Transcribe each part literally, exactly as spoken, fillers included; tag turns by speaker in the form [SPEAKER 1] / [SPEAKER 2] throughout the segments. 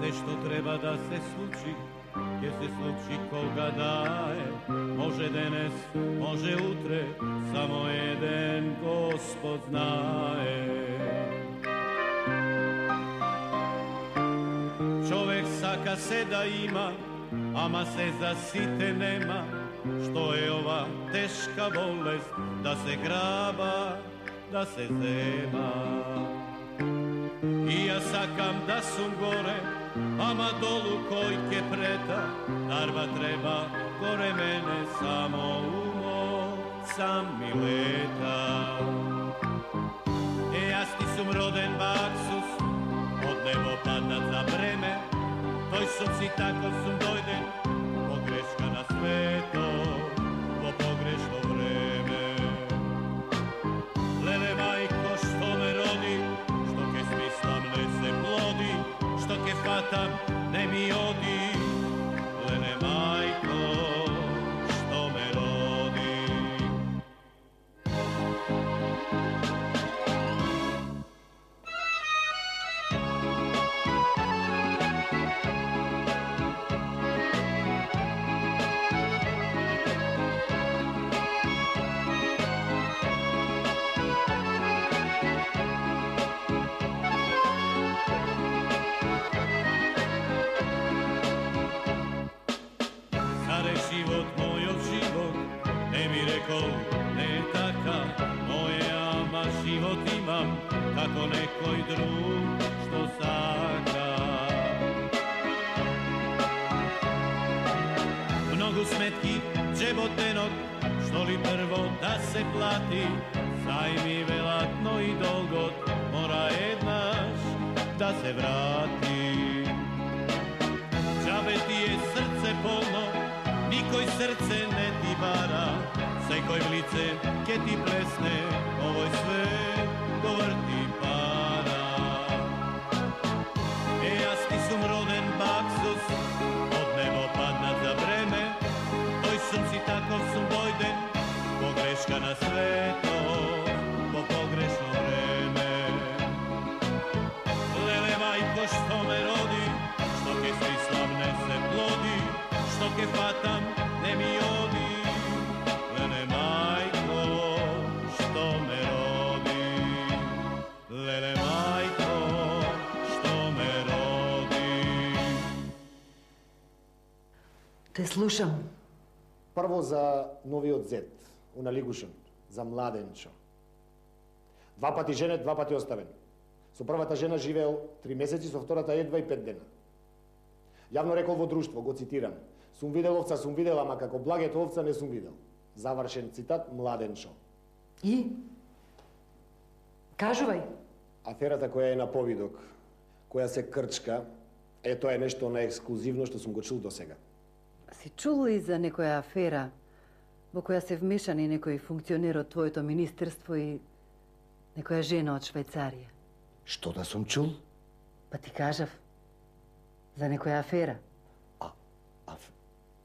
[SPEAKER 1] Се што треба да се случи, ќе се случи кога да е. Може денес, може утре, само еден Господ знае. Човек сака се да има, ама се за сите нема. Што е ова тешка болест, да се граба, да се зема. И јас сакам да сум горе, ама долу кој ќе прета. Дарба треба горе мене, само умот сам ми лета. Е, јас ти сум роден баксус, од небо паднат за време. Тој сум си таков сум дојден, погрешка на свето, во погрешно време. Леле мајко што ме роди, што ке смислам не се плоди, што ке фатам не ми оди. Леле мајко што ме роди. Не е така, моје, ама живот имам, како некој друг што сака. Многу сметки, джеботенок, што ли прво да се плати, зајми велат, но и долгот мора еднаш да се врати. Джабе ти е срце полно, никој срце не ти бара, секој в лице ке ти плесне, овој свет го врти пара. Е, јас ти сум роден баксус, од небо паднат за време. Тој сум си таков сум дојден, погрешка на свето, по погрешно време. Леле мајко што ме роди, што ке смислам не се плоди, што ке фатам не ми оди. Леле мајко што ме роди, леле мајко што ме роди.
[SPEAKER 2] Те слушам.
[SPEAKER 3] Прво за новиот зет, уна Лигушен, за Младенчо. Два пати женет, два пати оставен. Со првата жена живеел три месеци, со втората едва и пет дена. Јавно рекол во друштво, го цитирам: сум видел овца, сум видел, ама како благето овца не сум видел. Завршен цитат, Младенчо.
[SPEAKER 2] И? Кажувај.
[SPEAKER 3] Аферата која е на повидок, која се крчка, е тоа е нешто наексклузивно што сум го чул до сега.
[SPEAKER 2] Си чул ли за некоја афера во која се вмешани некој функционер од твоето министерство и некоја жена од Швајцарија?
[SPEAKER 3] Што да сум чул?
[SPEAKER 2] Па ти кажав. За некоја афера.
[SPEAKER 3] А, аф,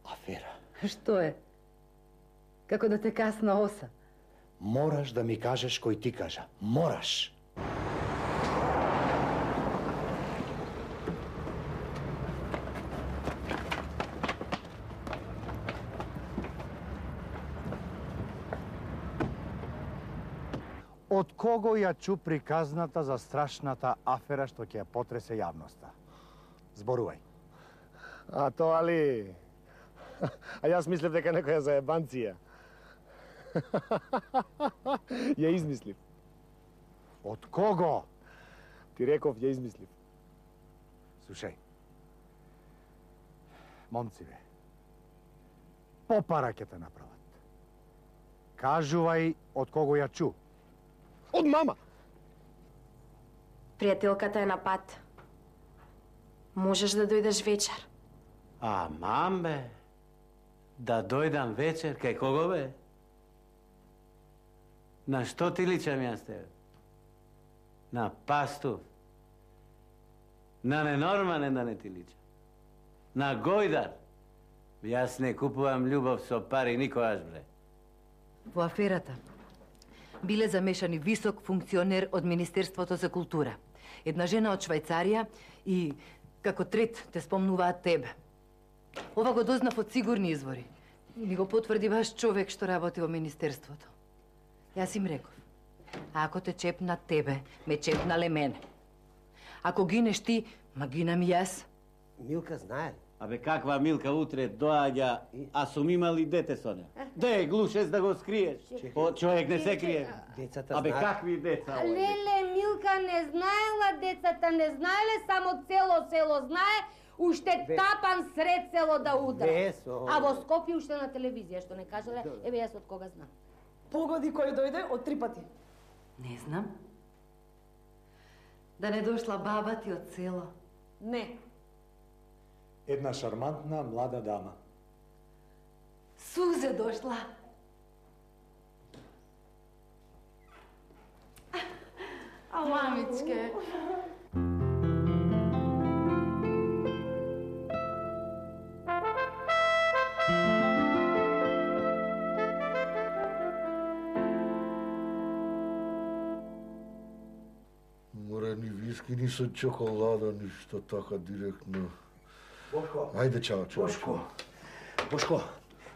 [SPEAKER 3] афера?
[SPEAKER 2] Што е? Како да те касна оса.
[SPEAKER 3] Мораш да ми кажеш кој ти кажа. Мораш!
[SPEAKER 4] Од кого ја чу приказната за страшната афера што ќе ја потресе јавноста? Зборувај.
[SPEAKER 3] А тоа ли? А јас мислев дека некоја заебанција. Ја измислив.
[SPEAKER 4] Од кого?
[SPEAKER 3] Ти реков, ја измислив.
[SPEAKER 4] Слушај. Момци бе. Попара ќе те направат. Кажувај од кого ја чу.
[SPEAKER 3] Од мама.
[SPEAKER 5] Пријателката е на пат. Можеш да дојдеш вечер.
[SPEAKER 6] А, мам бе. Да дојдам вечер, кај кого бе? На што ти личам јас тебе? На пастув? На ненормален да не ти личам? На гојдар? Јас не купувам љубов со пари никогаш, бре.
[SPEAKER 2] Во аферата биле замешани висок функционер од Министерството за култура, една жена од Швајцарија и Како трет те спомнуваат тебе. Ова го дознав од сигурни извори. И ми го потврди баш човек што работи во министерството. Јас им реков, ако те чепна тебе, ме чепнале мене. Ако гинеш ти, ма гинам и јас.
[SPEAKER 7] Милка знае ли?
[SPEAKER 6] Абе, каква Милка утре доаѓа, а сум имали дете со неа. Де, глушец да го скриеш. О, човек не се крие.
[SPEAKER 7] Децата
[SPEAKER 6] Абе,
[SPEAKER 7] знаат.
[SPEAKER 6] какви деца? овие?
[SPEAKER 8] Леле, Милка не знаела, децата не знаеле, само цело село знае, уште
[SPEAKER 7] Бе.
[SPEAKER 8] тапан сред село да удра.
[SPEAKER 7] Без, о.
[SPEAKER 8] А во Скопје уште на телевизија, што не кажале, еве јас од кога знам.
[SPEAKER 9] Погоди кој дојде од три пати.
[SPEAKER 2] Не знам. Да не дошла баба ти од село.
[SPEAKER 8] Не.
[SPEAKER 3] Една шармантна млада дама.
[SPEAKER 2] Сузе дошла. А, мамичке.
[SPEAKER 10] Мора ни виски, ни со чоколада, ништо така директно.
[SPEAKER 7] Бошко.
[SPEAKER 10] Ајде, чао, чао.
[SPEAKER 7] Бошко. Бошко,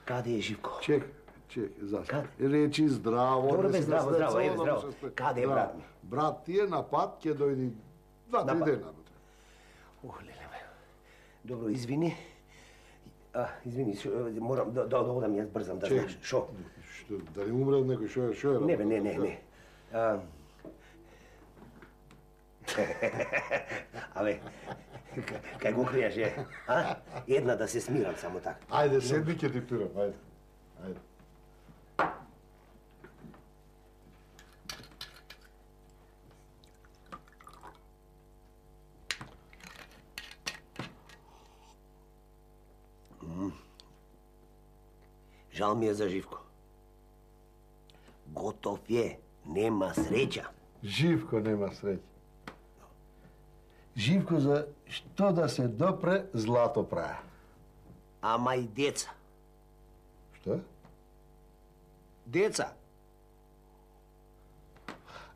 [SPEAKER 7] каде е Живко?
[SPEAKER 10] Чек, чек, зашто?
[SPEAKER 7] Каде?
[SPEAKER 10] Речи здраво.
[SPEAKER 7] Добро,
[SPEAKER 10] не
[SPEAKER 7] бе,
[SPEAKER 10] се
[SPEAKER 7] здраво,
[SPEAKER 10] спред,
[SPEAKER 7] здраво,
[SPEAKER 10] само
[SPEAKER 7] еве,
[SPEAKER 10] да
[SPEAKER 7] здраво.
[SPEAKER 10] му се спред.
[SPEAKER 7] Каде е
[SPEAKER 10] Да.
[SPEAKER 7] брат ми?
[SPEAKER 10] Брат ти е на пат, ќе дојди два-три
[SPEAKER 7] На пат.
[SPEAKER 10] дена.
[SPEAKER 7] Ох, леле, бе. Добро, извини. А, извини, шо, морам да, да, да одам, јас брзам, да
[SPEAKER 10] Чек.
[SPEAKER 7] знаеш. Шо?
[SPEAKER 10] Што, да не умре од некој, шо е, шо е?
[SPEAKER 7] Не, бе, не,
[SPEAKER 10] работа?
[SPEAKER 7] не, не. А... Абе, к- кај го криеш, е? А? Една да се смирам само така.
[SPEAKER 10] Ајде, седни ќе ти турам, ајде. Ајде.
[SPEAKER 7] Жал ми е за Живко. Готов е, нема среќа.
[SPEAKER 10] Живко нема среќа. Живко за што да се допре, злато праја.
[SPEAKER 7] Ама и деца.
[SPEAKER 10] Што?
[SPEAKER 7] Деца.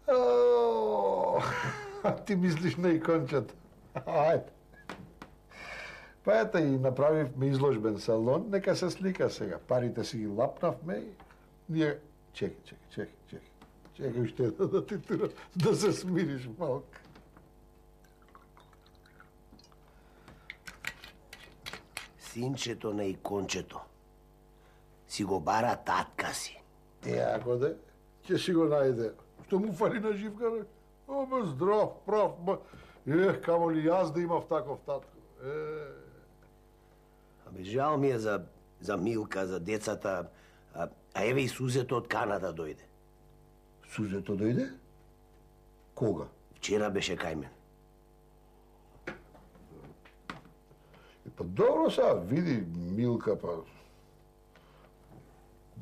[SPEAKER 10] О, ти мислиш на икончето. Ајде. Па ета и направивме изложбен салон, нека се слика сега. Парите си ги лапнавме и ние... Чекай, чекай, чекай, чекай. Чекай уште да, да ти тура, да се смириш малко.
[SPEAKER 7] Синчето на икончето. Си го бара татка си.
[SPEAKER 10] Е, ако де, ќе си го најде. Што му фали на Живка, бе? О, бе, здрав, прав, бе. Ех, камо ли јас да имав таков татко. Е,
[SPEAKER 7] Абе, жал ми е за, за Милка, за децата. А, а еве и Сузето од Канада дојде.
[SPEAKER 10] Сузето дојде? Кога?
[SPEAKER 7] Вчера беше кај мен.
[SPEAKER 10] Е, па добро сега, види Милка, па...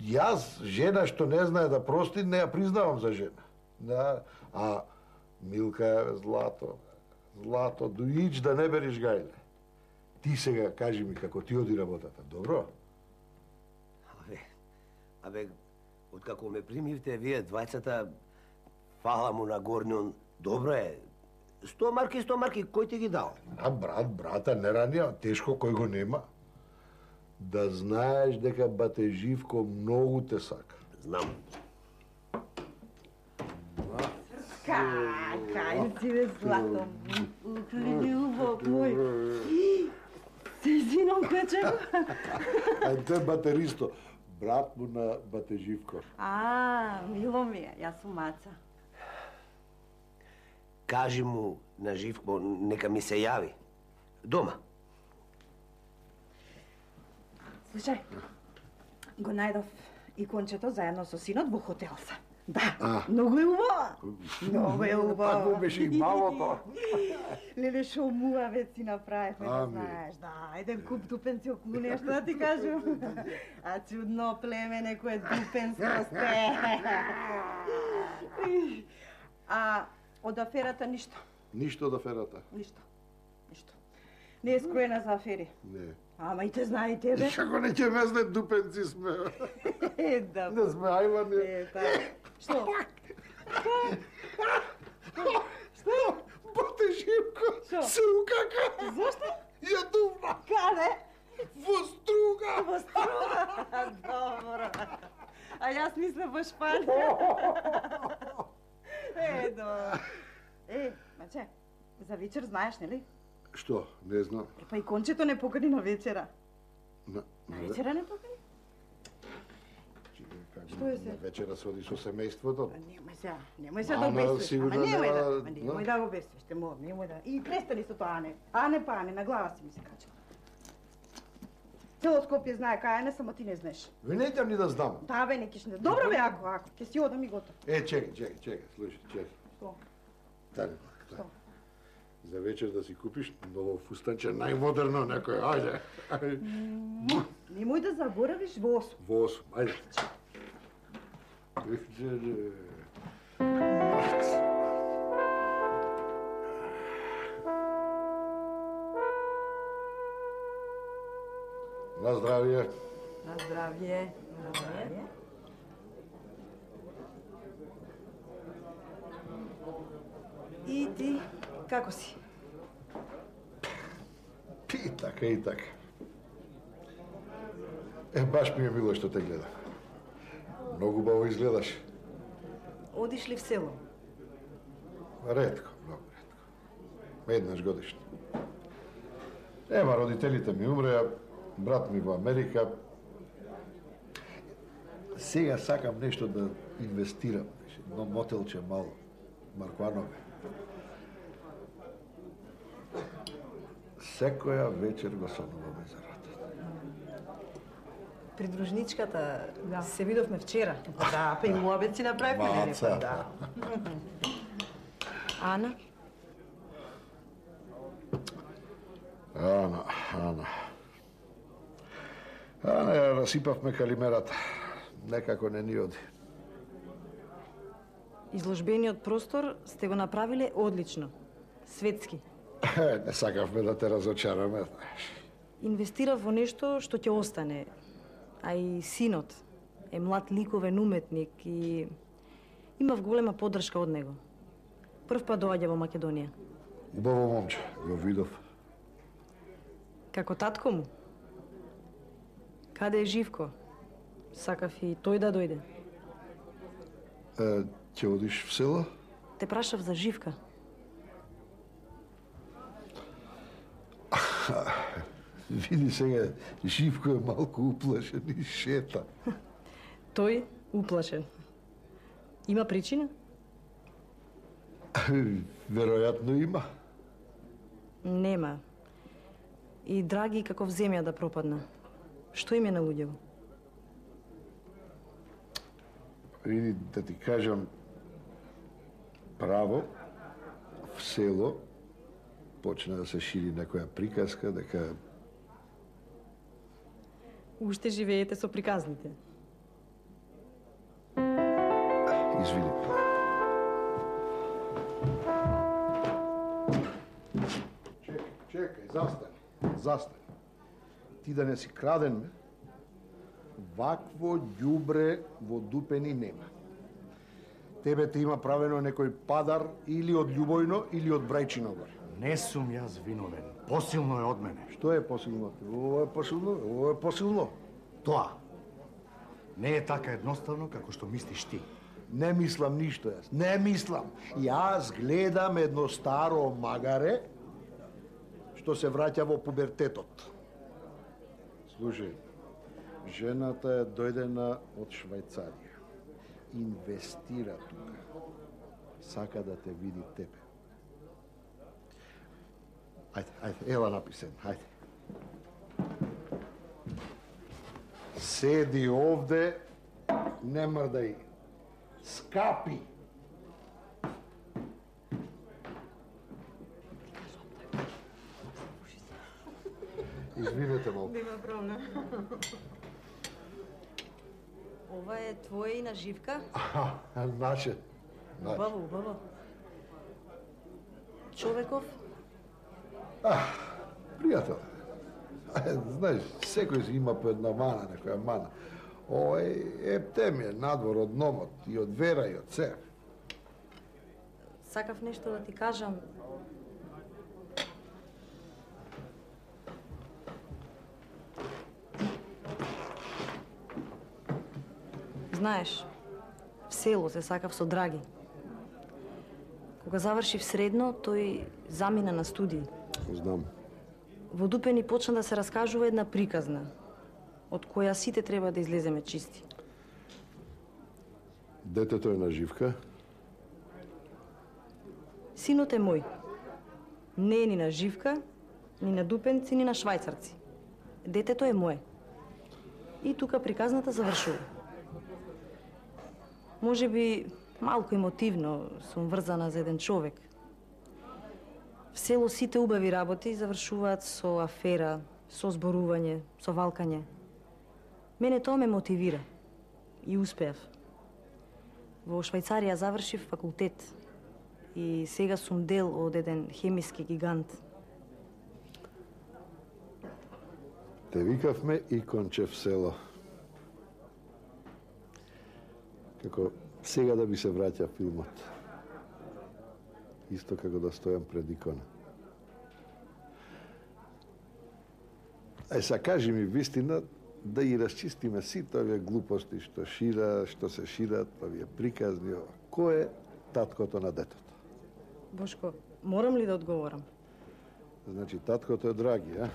[SPEAKER 10] Јас, жена што не знае да прости, не ја признавам за жена. Да, а Милка е злато, злато, доиđ да не бериш гајле. Ти сега кажи ми како ти оди работата, добро?
[SPEAKER 7] Абе, абе, откако ме примивте вие двајцата, фала му на горнион, добро е. Сто марки, сто марки, кој ти ги дал?
[SPEAKER 10] А брат, брата, не ранија, тешко кој го нема. Да знаеш дека бате Живко многу те сака.
[SPEAKER 7] Знам.
[SPEAKER 9] Кај, кај си бе злато. Любов мој. Се извинам, Печеко.
[SPEAKER 10] А тој батеристо, брат му на бате Живко.
[SPEAKER 9] А, мило ми е, јас сум Маца.
[SPEAKER 7] Кажи му на Живко, нека ми се јави. Дома.
[SPEAKER 9] Слушај, го најдов икончето заедно со синот во хотелса. Да,
[SPEAKER 10] А.
[SPEAKER 9] многу е убава. Многу е убава.
[SPEAKER 10] Такво беше и малото.
[SPEAKER 9] Леле, шо муавет си направивме, да
[SPEAKER 10] Ами.
[SPEAKER 9] знаеш. Да, еден куп дупенци околу нешто да ти кажам. А чудно племе, некое дупенско сте. А од аферата ништо,
[SPEAKER 10] Ништо од аферата.
[SPEAKER 9] ништо, ништо. Не е скроена за афери.
[SPEAKER 10] Не.
[SPEAKER 9] Ама и те знае и тебе.
[SPEAKER 10] Како не ќе мезне дупенци сме.
[SPEAKER 9] Е, да.
[SPEAKER 10] Не сме ајвани.
[SPEAKER 9] Е, така. Што?
[SPEAKER 10] Бате те, Живко, се укака.
[SPEAKER 9] Зошто?
[SPEAKER 10] Ја дувна.
[SPEAKER 9] Каде?
[SPEAKER 10] Во струга.
[SPEAKER 9] Во струга? Добро. А јас мислам во Шпанија. Е, до. Е, маче, за вечер знаеш, нели?
[SPEAKER 10] Што? Не знам.
[SPEAKER 9] Е, па и кончето не покани на вечера.
[SPEAKER 10] На,
[SPEAKER 9] На вечера не покани? Што е се?
[SPEAKER 10] На вечера се оди со семејството.
[SPEAKER 9] Немој се, немој се да
[SPEAKER 10] Ана,
[SPEAKER 9] обесвиш.
[SPEAKER 10] сигурно
[SPEAKER 9] Ама немој да,
[SPEAKER 10] нема-
[SPEAKER 9] ама немој да го обесвиш, те мор, немој да. И престани со тоа, Ане. Ане па Ане, на глава си ми се кача. Цело Скопје знае кај Ане, само ти не знаеш.
[SPEAKER 10] Ви не идам ни да знам.
[SPEAKER 9] Да, бе, не киш не. Добро бе, ако, ако, ќе си одам и готов.
[SPEAKER 10] Е, чекај, чекај, чекај, слушај, чекај.
[SPEAKER 9] Што?
[SPEAKER 10] Дали, дали. За вечер да си купиш ново фустанче, најмодерно некој, ајде.
[SPEAKER 9] Немој да заборавиш во осум.
[SPEAKER 10] Во осум, ајде. На здравје.
[SPEAKER 9] На здравје. На здравје. И ти, како си?
[SPEAKER 10] И така, и така. Е, баш ми е мило што те гледам. Многу баво изгледаш.
[SPEAKER 9] Одиш ли в село?
[SPEAKER 10] Ретко, многу ретко. Еднаш годишно. Ема, родителите ми умреа, брат ми во Америка. Сега сакам нешто да инвестирам. Едно мотелче мало. Маркванове. Секоја вечер го сонуваме за работа.
[SPEAKER 9] Придружничката се видовме вчера. Да, па и муабет си направивме, нели?
[SPEAKER 10] Маца.
[SPEAKER 9] Да. Ана?
[SPEAKER 10] Ана, Ана. Ана, ја расипавме калимерата. Некако не ни оди.
[SPEAKER 9] Изложбениот простор сте го направиле одлично. Светски.
[SPEAKER 10] Е, не сакавме да те разочараме, знаеш.
[SPEAKER 9] Инвестирав во нешто што ќе остане. А и синот е млад ликовен уметник и имав голема поддршка од него. Прв пат доаѓа во Македонија.
[SPEAKER 10] Убаво момче, го видов.
[SPEAKER 9] Како татко му. Каде е Живко? Сакав и тој да дојде.
[SPEAKER 10] Е, ќе одиш в село?
[SPEAKER 9] Те прашав за Живка.
[SPEAKER 10] Види сега, Живко е малку уплашен и шета.
[SPEAKER 9] Тој уплашен. Има причина?
[SPEAKER 10] Веројатно има.
[SPEAKER 9] Нема. И драги како в земја да пропадна. Што им е налуѓево?
[SPEAKER 10] Види, да ти кажам, право, в село, почна да се шири некоја приказка дека
[SPEAKER 9] Уште живеете со приказните.
[SPEAKER 10] Извини. Чекај, чекај, застани, застани. Ти да не си краден, ме, вакво ѓубре во дупени нема. Тебе те има правено некој падар или од Љубојно или од Брајчино горе.
[SPEAKER 4] Не сум јас виновен. Посилно е од мене.
[SPEAKER 10] Што е посилно? Ово е посилно, ово е посилно.
[SPEAKER 4] Тоа не е така едноставно како што мислиш ти.
[SPEAKER 10] Не мислам ништо јас, не мислам. Јас гледам едно старо магаре што се враќа во пубертетот. Слушај, жената е дојдена од Швајцарија. Инвестира тука. Сака да те види тебе. Ајде, ајде, ела написен, ајде. Седи овде, не мрдај. Скапи. Извинете малку.
[SPEAKER 9] Нема проблем. Ова е твоја и на Живка?
[SPEAKER 10] Аха, наше.
[SPEAKER 9] Убаво, убаво. Човеков?
[SPEAKER 10] А, пријател. Знаеш, секој си има по една мана, некоја мана. Овој ептем е надвор од номот и од вера и од се.
[SPEAKER 9] Сакав нешто да ти кажам. знаеш, в село се сакав со Драги. Кога завршив средно, тој замина на студии.
[SPEAKER 10] Знам.
[SPEAKER 9] Во Дупени почна да се раскажува една приказна, од која сите треба да излеземе чисти.
[SPEAKER 10] Детето е на живка?
[SPEAKER 9] Синот е мој. Не е ни на живка, ни на дупенци, ни на швајцарци. Детето е мое. И тука приказната завршува. Може би малку емотивно сум врзана за еден човек. В село сите убави работи завршуваат со афера, со зборување, со валкање. Мене тоа ме мотивира. И успеав. Во Швајцарија завршив факултет. И сега сум дел од еден хемиски гигант.
[SPEAKER 10] Те викавме и Кончев село. Како сега да би се враќа филмот. Исто како да стојам пред икона. Ај са кажи ми вистина, да ги расчистиме сите овие глупости што шира, што се шират, овие приказни. Кој е таткото на детето?
[SPEAKER 9] Бошко, морам ли да одговорам?
[SPEAKER 10] Значи, таткото е Драги, а?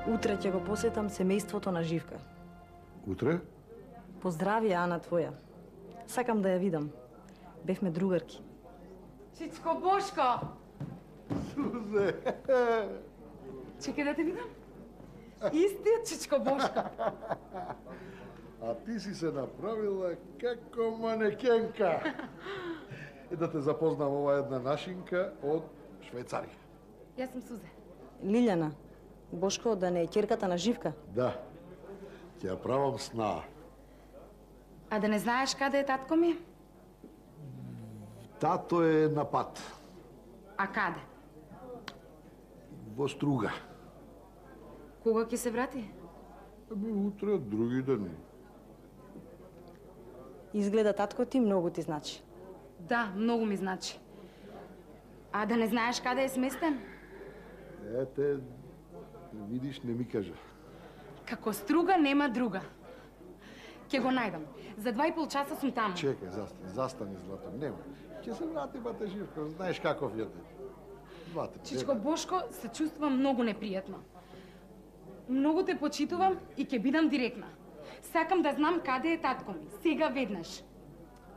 [SPEAKER 9] Утре ќе го посетам семејството на Живка.
[SPEAKER 10] Утре?
[SPEAKER 9] Поздрави, Ана твоја. Сакам да ја видам. Бевме другарки.
[SPEAKER 2] Чичко Бошко!
[SPEAKER 10] Сузе!
[SPEAKER 2] Чекай да те видам. Истиот Чичко Бошко.
[SPEAKER 10] А ти си се направила како манекенка. И да те запознам, ова една нашинка од Швајцарија.
[SPEAKER 2] Јас сум Сузе.
[SPEAKER 9] Лилјана, Бошко да не е ќерката на Живка?
[SPEAKER 10] Да. Ќе ја правам сна.
[SPEAKER 2] А да не знаеш каде е татко ми?
[SPEAKER 10] Тато е на пат.
[SPEAKER 2] А каде?
[SPEAKER 10] Во Струга.
[SPEAKER 2] Кога ќе се врати?
[SPEAKER 10] Ами утре, други ден.
[SPEAKER 9] Изгледа татко ти многу ти значи.
[SPEAKER 2] Да, многу ми значи. А да не знаеш каде е сместен?
[SPEAKER 10] Ете, видиш, не ми кажа.
[SPEAKER 2] Како Струга нема друга. Ќе го најдам. За два и пол часа сум таму.
[SPEAKER 10] Чекај, застани, застани, злато. Нема. Ќе се врати бате Живко, знаеш каков е. Бате.
[SPEAKER 2] Чичко Бошко, се чувствувам многу непријатно. Многу те почитувам и ќе бидам директна. Сакам да знам каде е татко ми. Сега веднаш.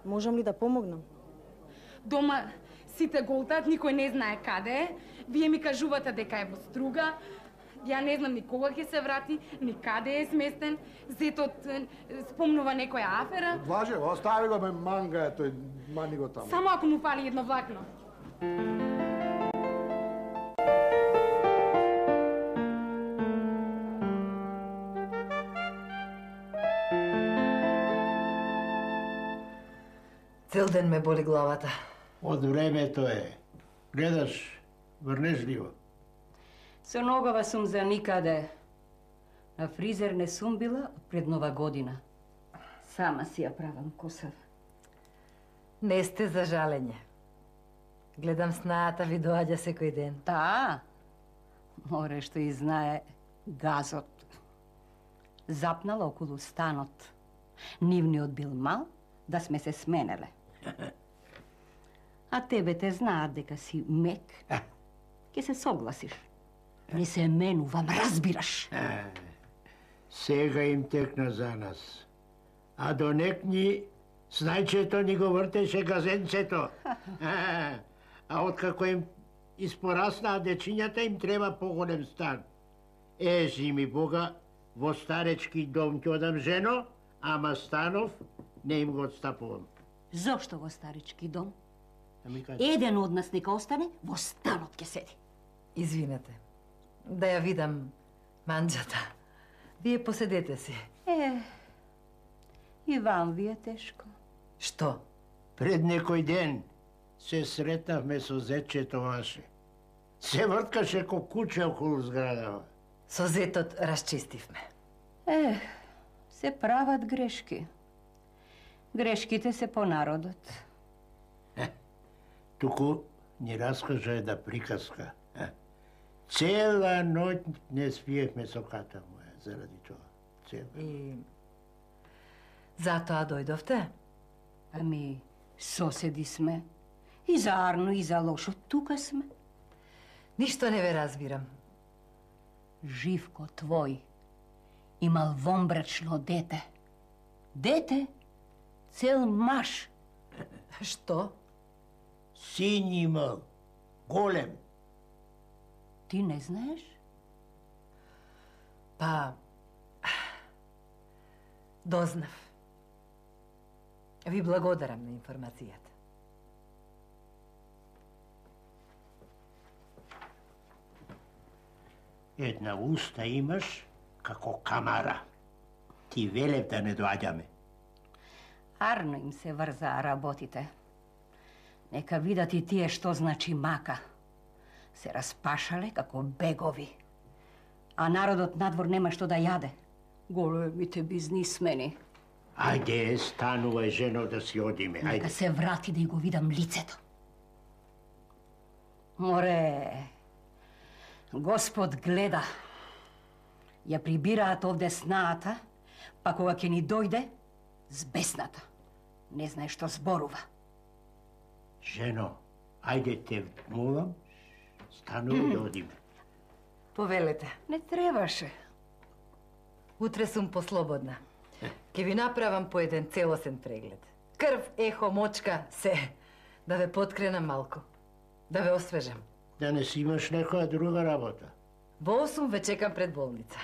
[SPEAKER 9] Можам ли да помогнам?
[SPEAKER 2] Дома сите голтат, никој не знае каде е. Вие ми кажувате дека е во Струга. Ја не знам ни кога ќе се врати, ни каде е сместен. Зетот спомнува некоја афера.
[SPEAKER 10] Влаже, остави го, ме манга е тој, мани го таму.
[SPEAKER 2] Само ако му фали едно влакно. Цел ден ме боли главата.
[SPEAKER 11] Од времето е. Гледаш врнежливо.
[SPEAKER 12] Со ногава сум за никаде. На фризер не сум била пред нова година. Сама си ја правам косава.
[SPEAKER 2] Не сте за жалење. Гледам снаата ви доаѓа секој ден.
[SPEAKER 12] Да, море што и знае газот. Запнала околу станот. Нивниот бил мал, да сме се сменеле. А тебе те знаат дека си мек. Ке се согласиш. Не се менувам, разбираш.
[SPEAKER 11] Сега им текна за нас. А до некни снајчето ни го вртеше газенцето. А, а откако им испораснаа дечињата, им треба поголем стан. Ежи ми Бога, во старечки дом ќе одам жено, ама станов не им го отстапувам.
[SPEAKER 12] Зошто во старички дом?
[SPEAKER 11] Ами кажи.
[SPEAKER 12] Еден од нас нека остане, во станот ќе седи.
[SPEAKER 2] Извинете. Да ја видам манџата. Вие поседете си.
[SPEAKER 12] Е, и вам ви е тешко.
[SPEAKER 2] Што?
[SPEAKER 11] Пред некој ден се сретнавме со зетчето ваше. Се врткаше ко куче околу зградава.
[SPEAKER 2] Со зетот расчистивме.
[SPEAKER 12] Е, се прават грешки. Грешките се по народот.
[SPEAKER 11] Е, туку ни раскажа една приказка. Е, Цела ноќ не спиевме со ката моја, заради тоа. Цела.
[SPEAKER 2] И затоа дојдовте?
[SPEAKER 12] Ами, соседи сме. И за Арно, и за лошо, тука сме.
[SPEAKER 2] Ништо не ве разбирам.
[SPEAKER 12] Живко твој имал вонбрачно дете. Дете? Цел маж.
[SPEAKER 2] Што?
[SPEAKER 11] Син имал. Голем.
[SPEAKER 12] Ти не знаеш?
[SPEAKER 2] Па... дознав. Ви благодарам на информацијата.
[SPEAKER 11] Една уста имаш како камара. Ти велев да не доаѓаме.
[SPEAKER 12] Арно им се врзаа работите. Нека видат и тие што значи мака. Се распашале како бегови. А народот надвор нема што да јаде. Големите бизнисмени.
[SPEAKER 11] Ајде, станувај, жено, да си одиме.
[SPEAKER 12] Нека
[SPEAKER 11] Ајде.
[SPEAKER 12] се врати да ја го видам лицето. Море, Господ гледа. Ја прибираат овде снаата, па кога ќе ни дојде, збесната. Не знае што зборува.
[SPEAKER 11] Жено, ајде те молам, станувај да одиме.
[SPEAKER 2] Повелете.
[SPEAKER 12] Не требаше.
[SPEAKER 2] Утре сум послободна. Ке ви направам по еден целосен преглед. Крв, ехо, мочка, се. Да ве подкренам малку. Да ве освежам.
[SPEAKER 11] Да не си имаш некоја друга работа.
[SPEAKER 2] Во осум ве чекам пред болница.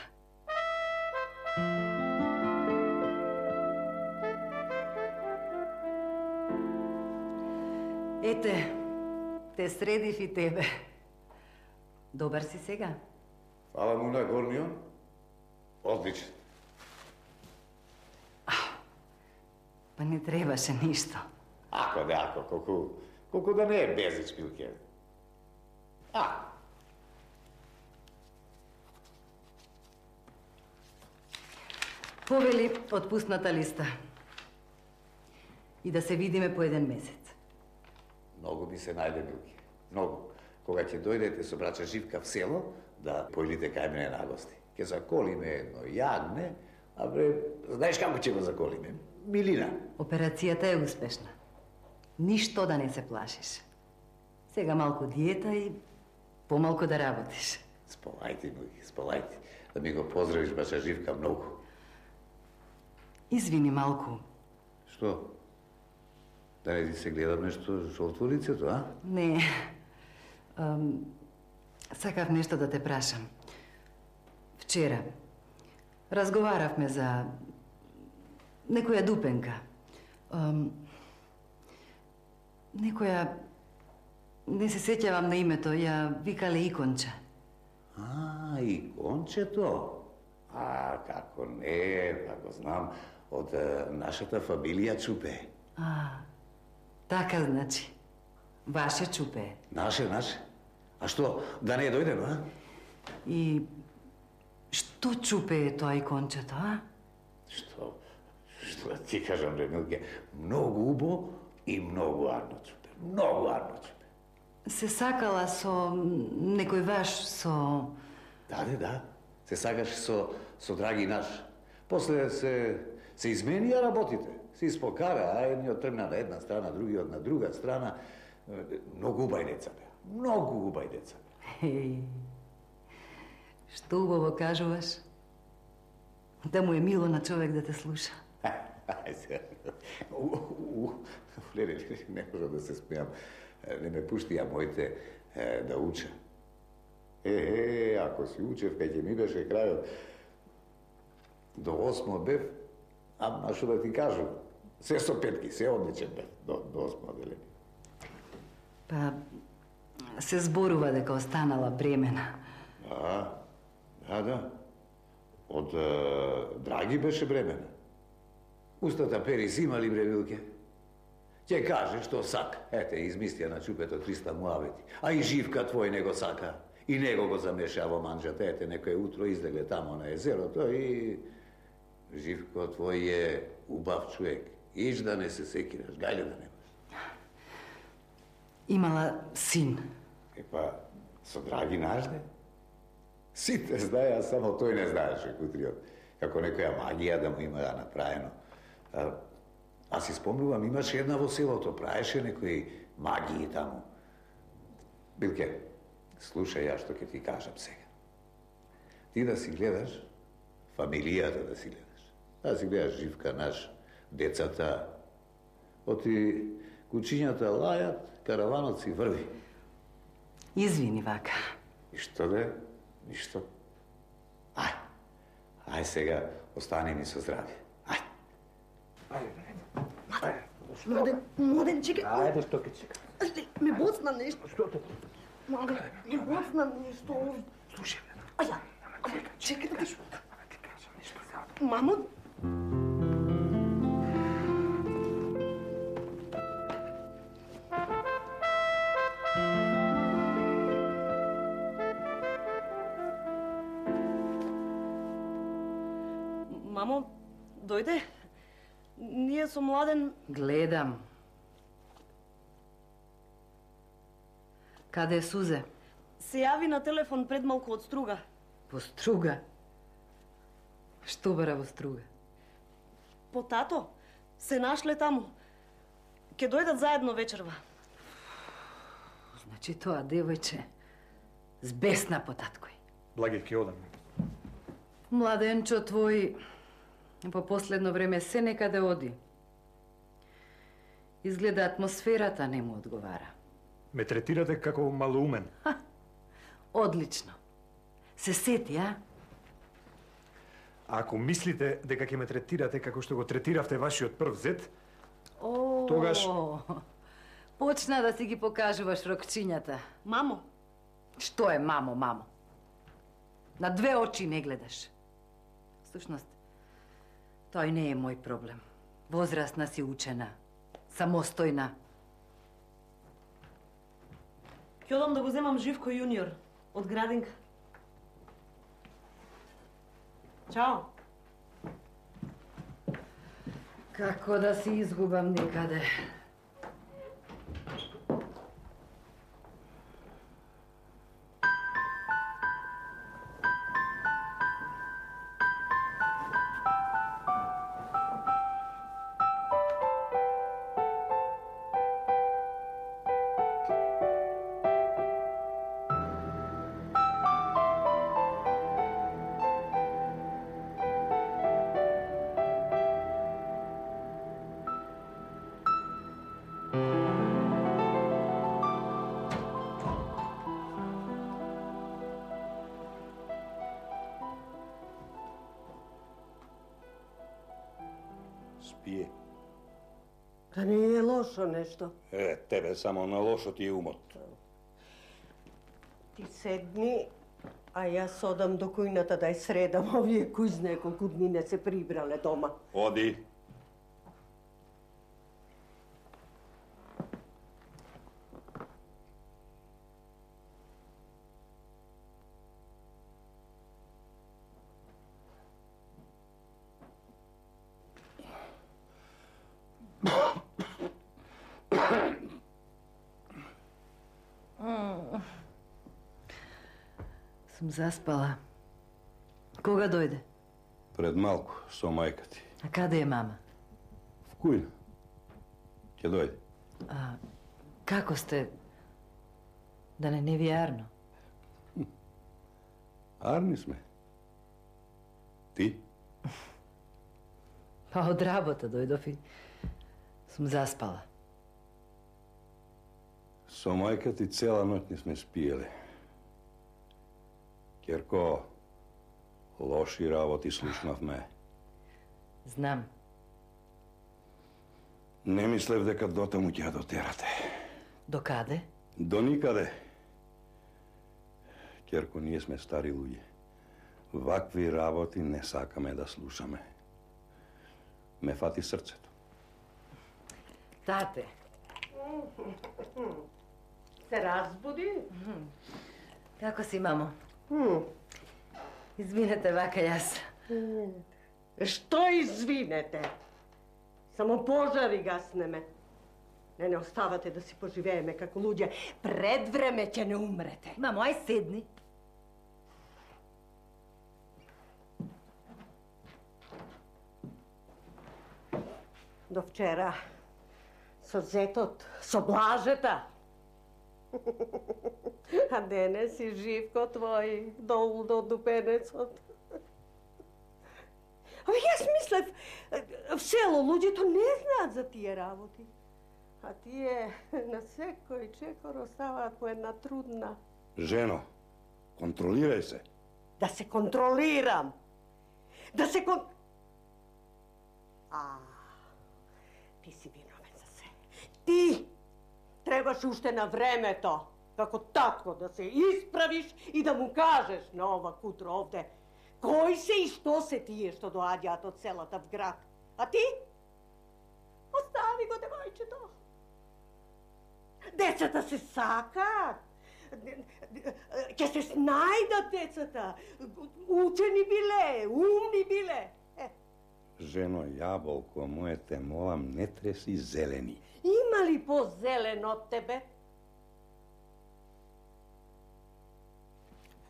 [SPEAKER 2] Ете, те средив и тебе. Добар си сега?
[SPEAKER 13] Фала му на Горнион. Одличен.
[SPEAKER 2] Па не требаше ништо.
[SPEAKER 13] Ако да, ако, колку, колку да не е безич, Пилке. А.
[SPEAKER 2] Повели отпусната листа. И да се видиме по еден месец.
[SPEAKER 13] Многу ми се најде, Пилке. Многу. Кога ќе дојдете со брача Живка в село, да појдите кај мене на гости. Ќе заколиме едно јагне, а бре, знаеш како ќе го заколиме? Милина.
[SPEAKER 2] Операцијата е успешна. Ништо да не се плашиш. Сега малку диета и помалку да работиш.
[SPEAKER 13] Сполајте, мојки, сполајте. Да ми го поздравиш брача Живка многу.
[SPEAKER 2] Извини малку.
[SPEAKER 13] Што? Да не ти се гледам нешто жолто лицето, а?
[SPEAKER 2] Не. Ам, сакав нешто да те прашам. Вчера разговаравме за некоја дупенка. Ам, некоја... Не се сеќавам на името, ја викале Иконча.
[SPEAKER 13] А, Икончето? А, како не, како знам, од е, нашата фамилија Чупе.
[SPEAKER 2] А, така значи. Ваше Чупе.
[SPEAKER 13] Наше, наше. А што, да не дојдем, а?
[SPEAKER 2] И што Чупе е тоа Икончето, а?
[SPEAKER 13] Што, што да ти кажам, бре, Милке, многу убо и многу арно Чупе. Многу арно Чупе.
[SPEAKER 2] Се сакала со некој ваш, со...
[SPEAKER 13] Да, да, да. Се сакаш со, со драги наш. После се, се изменија работите. Се испокара, а едниот тргна на една страна, другиот на друга страна. Многу убај деца бе. Многу убај деца бе.
[SPEAKER 2] Еј, што убаво кажуваш. Да му е мило на човек да те слуша.
[SPEAKER 13] Ајде, не, не, не можам да се смеам. Не ме пуштија моите е, да уча. Е, е, ако си учев, кај ќе ми беше крајот, до осмо бев, ама што да ти кажу, се со петки, се одличен бев до, до осмо одделение.
[SPEAKER 2] Па, се зборува дека останала бремена.
[SPEAKER 13] Да, да, да. Од е, Драги беше бремена. Устата пери си имали, бре, Милке. Ќе каже што сака. Ете, измислија на Чупето триста муавети. А и Живка твој не го сака. И него го замеша во манџата. Ете, некој утро излегле тамо на езерото и... Живко твој е убав човек. Иш да не се секираш, гајле да немаш.
[SPEAKER 2] Имала син.
[SPEAKER 13] Епа, со Драги нажде. Сите знаеа, само тој не знаеше Кутриот. Како некоја магија да му има да направено. А, а си спомнувам, имаше една во селото, правеше некои магии таму. Билке, слушај ја што ќе ти кажам сега. Ти да си гледаш, фамилијата да си гледаш. Да си гледаш Живка наш, децата, оти кучињата лајат, караванот си врви.
[SPEAKER 2] Извини, Вака.
[SPEAKER 13] И што да е? Ништо. Ај, ај сега, остани ми со здравје. Ај.
[SPEAKER 14] Ајде. Младен, младен, чекай.
[SPEAKER 10] Ајде, што ке чека?
[SPEAKER 14] Ме боцна нешто.
[SPEAKER 10] Што те?
[SPEAKER 14] Младен, ме боцна нешто.
[SPEAKER 10] Слушај,
[SPEAKER 14] Аја, чекай да кажу. Мамо?
[SPEAKER 9] Мамо, дојде. Ние со Младен...
[SPEAKER 2] Гледам. Каде е Сузе?
[SPEAKER 9] Се јави на телефон пред малку од Струга.
[SPEAKER 2] Во Струга? Што бара во Струга?
[SPEAKER 9] По тато. Се нашле таму. Ке дојдат заедно вечерва.
[SPEAKER 2] Значи тоа девојче збесна по таткој.
[SPEAKER 10] Благи, ке одам.
[SPEAKER 2] Младенчо твој по последно време се некаде оди. Изгледа атмосферата не му одговара.
[SPEAKER 10] Ме третирате како малоумен.
[SPEAKER 2] Ха, одлично. Се сети, а?
[SPEAKER 10] Ако мислите дека ќе ме третирате како што го третиравте вашиот прв зет,
[SPEAKER 2] О,
[SPEAKER 10] тогаш...
[SPEAKER 2] Почна да си ги покажуваш рокчињата.
[SPEAKER 9] Мамо.
[SPEAKER 2] Што е мамо, мамо? На две очи не гледаш. Всушност, тој не е мој проблем. Возрастна си учена, самостојна.
[SPEAKER 9] Ќе одам да го земам Живко јуниор од градинка. Чао.
[SPEAKER 2] Како да си изгубам никаде.
[SPEAKER 15] Спие.
[SPEAKER 14] Да не е лошо нешто.
[SPEAKER 15] Е, тебе само на лошо ти е умот.
[SPEAKER 14] Ти седни, а јас одам до кујната да ја средам. Овие кој знае колку дни не се прибрале дома.
[SPEAKER 15] Оди.
[SPEAKER 2] Сум заспала. Кога дојде?
[SPEAKER 15] Пред малку, со мајка ти.
[SPEAKER 2] А каде е мама?
[SPEAKER 15] В кујна. Ќе дојде.
[SPEAKER 2] А, како сте? Да не не ви е арно?
[SPEAKER 15] Арни сме. Ти?
[SPEAKER 2] Па од работа дојдов и сум заспала.
[SPEAKER 15] Со мајка ти цела ноќ не сме спиеле. Керко, лоши работи слушнавме.
[SPEAKER 2] Знам.
[SPEAKER 15] Не мислев дека дотаму ќе ја дотерате.
[SPEAKER 2] До каде?
[SPEAKER 15] До никаде. Керко, ние сме стари луѓе. Вакви работи не сакаме да слушаме. Ме фати срцето.
[SPEAKER 2] Тате.
[SPEAKER 14] Се разбуди?
[SPEAKER 2] Како си, мамо? Извинете, Вака, јас.
[SPEAKER 14] Што извинете? Само пожари гаснеме. Не не оставате да си поживееме како луѓе. Пред време ќе не умрете.
[SPEAKER 2] Мамо, ај седни.
[SPEAKER 14] до вчера со зетот, со блажета. А денес си Живко твој долу до дупенецот. Абе, јас мислев, в село луѓето не знаат за тие работи. А тие на секој чекор оставаат по една трудна.
[SPEAKER 15] Жено, контролирај се.
[SPEAKER 14] Да се контролирам. Да се кон... А, ти си виновен за се. Ти требаш уште на времето, како татко, да се исправиш и да му кажеш на ова кутро овде кој се и што се тие што доаѓаат од селата в град. А ти? Остави го девојчето. Децата се сакаат. Ќе се снајдат децата. Учени биле, умни биле. Е.
[SPEAKER 15] Жено јаболко, мојте молам, не треси зелени.
[SPEAKER 14] Има ли по-зелен од тебе?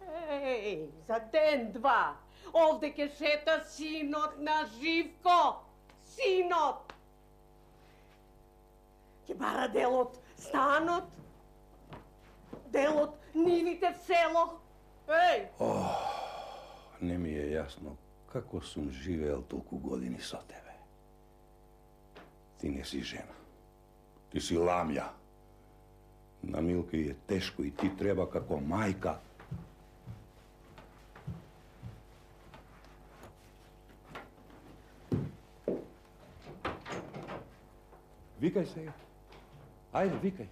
[SPEAKER 14] Еј, за ден-два, овде ке шета синот на Живко. Синот! Ке бара дел од станот, дел од нивите в село. Еј!
[SPEAKER 15] Ох, не ми е јасно како сум живеел толку години со тебе. Ти не си жена. Ти си ламја. На Милка е тешко и ти треба како мајка. Викај сега. Ајде, викај.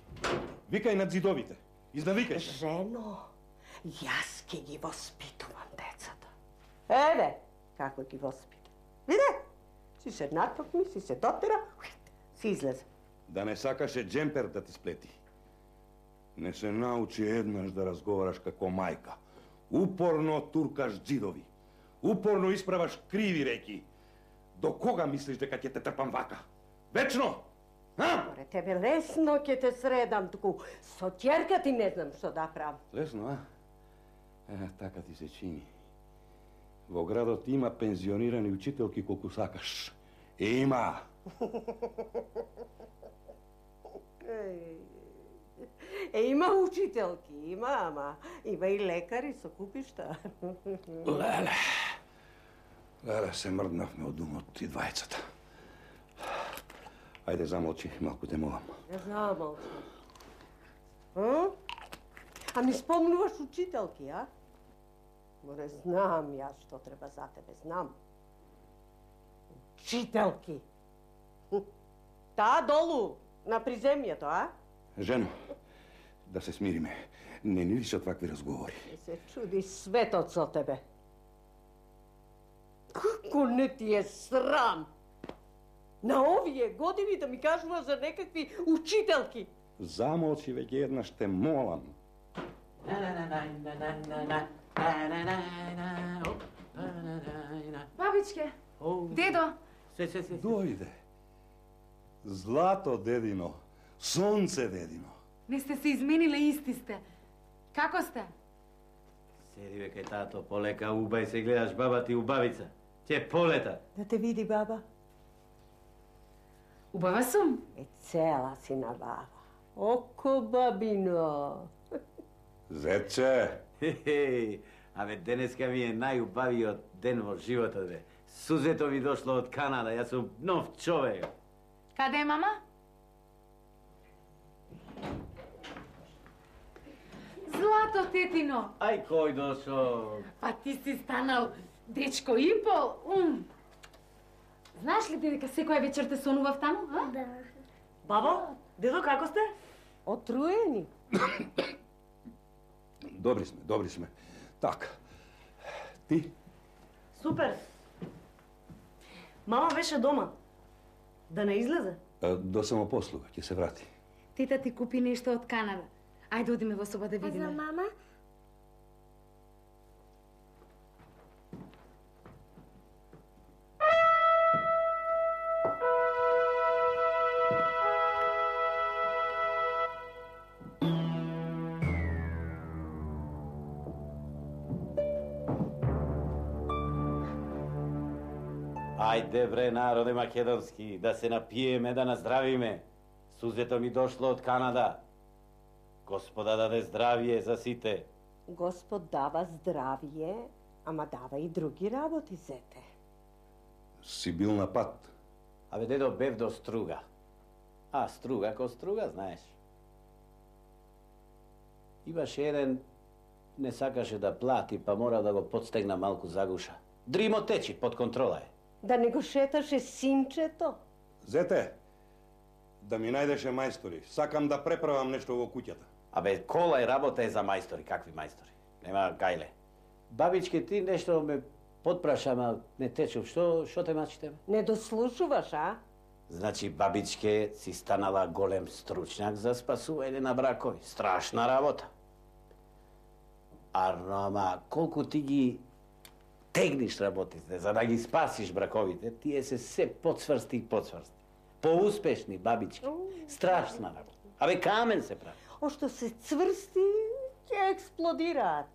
[SPEAKER 15] Викај над зидовите. Изнавикај се.
[SPEAKER 14] Жено, јас ке ги воспитувам децата. Еве, како ги воспитам. Виде, си се натокми, си се дотера, си излезе.
[SPEAKER 15] Да не сакаше джемпер да ти сплети. Не се научи еднаш да разговараш како мајка. Упорно туркаш дзидови. Упорно исправаш криви реки. До кога мислиш дека ќе те трпам вака? Вечно! А?
[SPEAKER 14] Море, тебе лесно ќе те средам, туку со ќерка ти не знам што да правам.
[SPEAKER 15] Лесно, а? Е, така ти се чини. Во градот има пензионирани учителки колку сакаш. Има!
[SPEAKER 14] Е, има учителки, има, ама има и лекари со купишта.
[SPEAKER 15] Леле, леле, се мрднавме од умот и двајцата. Ајде, замолчи, малку те молам.
[SPEAKER 14] Не замолчи. А? А ми спомнуваш учителки, а? Море, знам јас што треба за тебе, знам. Учителки. Таа долу, на приземјето, а?
[SPEAKER 15] Жено, да се смириме. Не ни лишат вакви разговори.
[SPEAKER 14] Не се чуди светот со тебе. Како не ти е срам? На овие години да ми кажува за некакви учителки.
[SPEAKER 15] Замолчи веќе еднаш, те молам.
[SPEAKER 2] Бабичке, дедо.
[SPEAKER 15] Се, се, се. Дојде. Злато, дедино. Сонце, дедино.
[SPEAKER 2] Не сте се измениле, исти сте. Како сте?
[SPEAKER 6] Седи бе кај тато, полека убај се гледаш баба ти убавица. Ќе полета.
[SPEAKER 14] Да те види баба.
[SPEAKER 2] Убава сум.
[SPEAKER 14] Е, цела си на баба. Око бабино.
[SPEAKER 15] Зетче.
[SPEAKER 6] Хе-хе, абе денеска ми е најубавиот ден во животот, бе. Сузето ми дошло од Канада, јас сум нов човек.
[SPEAKER 2] Каде е мама? Злато, тетино.
[SPEAKER 6] Ај, кој дошол?
[SPEAKER 2] Па ти си станал дечко и пол. Ум. Знаеш ли ти дека секоја вечер те сонував таму, а?
[SPEAKER 9] Да. Бабо, дедо, како сте?
[SPEAKER 14] Отруени.
[SPEAKER 15] Добри сме, добри сме. Така. Ти?
[SPEAKER 9] Супер. Мама беше дома. Да не излезе?
[SPEAKER 15] До самопослуга, ќе се врати.
[SPEAKER 2] Тета ти купи нешто од Канада. Ајде одиме во соба да видиме.
[SPEAKER 5] А за мама?
[SPEAKER 6] Ајде бре, народе македонски, да се напиеме, да наздравиме. Сузето ми дошло од Канада. Господа даде здравие за сите.
[SPEAKER 14] Господ дава здравие, ама дава и други работи, зете.
[SPEAKER 15] Си бил на пат?
[SPEAKER 6] Абе, дедо, бев до Струга. А, Струга ко Струга, знаеш. Имаше еден, не сакаше да плати, па мора да го подстегна малку загуша. Дримо течи, под контрола е.
[SPEAKER 14] Да не го шеташе синчето?
[SPEAKER 15] Зете, да ми најдеше мајстори. Сакам да преправам нешто во куќата.
[SPEAKER 6] Абе, кола и работа е за мајстори. Какви мајстори? Нема гајле. Бабичке, ти нешто ме подпраша, ама не течув. Што, што те мачите?
[SPEAKER 14] Не дослушуваш, а?
[SPEAKER 6] Значи, бабичке си станала голем стручњак за спасување на бракови. Страшна работа. Арно, ама колку ти ги тегниш работите, за да ги спасиш браковите, тие се се подсврсти и подсврсти. Поуспешни, бабички. Страшна работа. Абе, камен се прави.
[SPEAKER 14] О, што се цврсти, ќе експлодираат.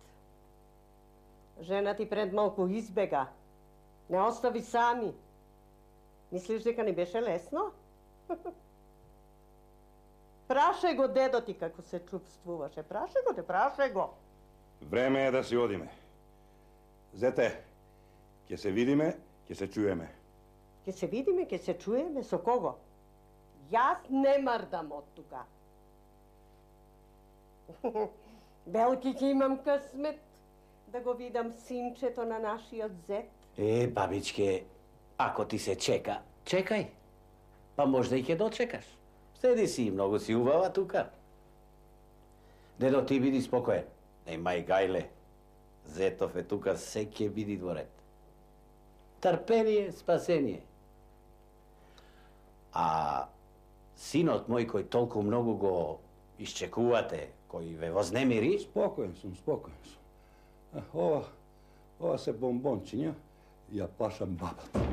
[SPEAKER 14] Жена ти пред малку избега. Не остави сами. Мислиш дека не беше лесно? Праше го дедо ти како се чувствуваше. Праше го те, праше го.
[SPEAKER 15] Време е да си одиме. Зете, ќе се видиме, ќе се чуеме.
[SPEAKER 14] Ќе се видиме, ќе се чуеме, со кого? Јас не мрдам од тука. Велики ќе имам късмет да го видам синчето на нашиот зет.
[SPEAKER 6] Е, бабичке, ако ти се чека, чекај. Па можда и ќе дочекаш. Седи си, многу си убава тука. Дедо, ти биди спокоен. Немај гајле. Зетов е тука, се ќе биди во ред. Трпение, спасение. А синот мој кој толку многу го исчекувате, кој ве вознемири?
[SPEAKER 15] Спокоен сум, спокоен сум. Ова, ова се бомбончиња, ја плашам бабата.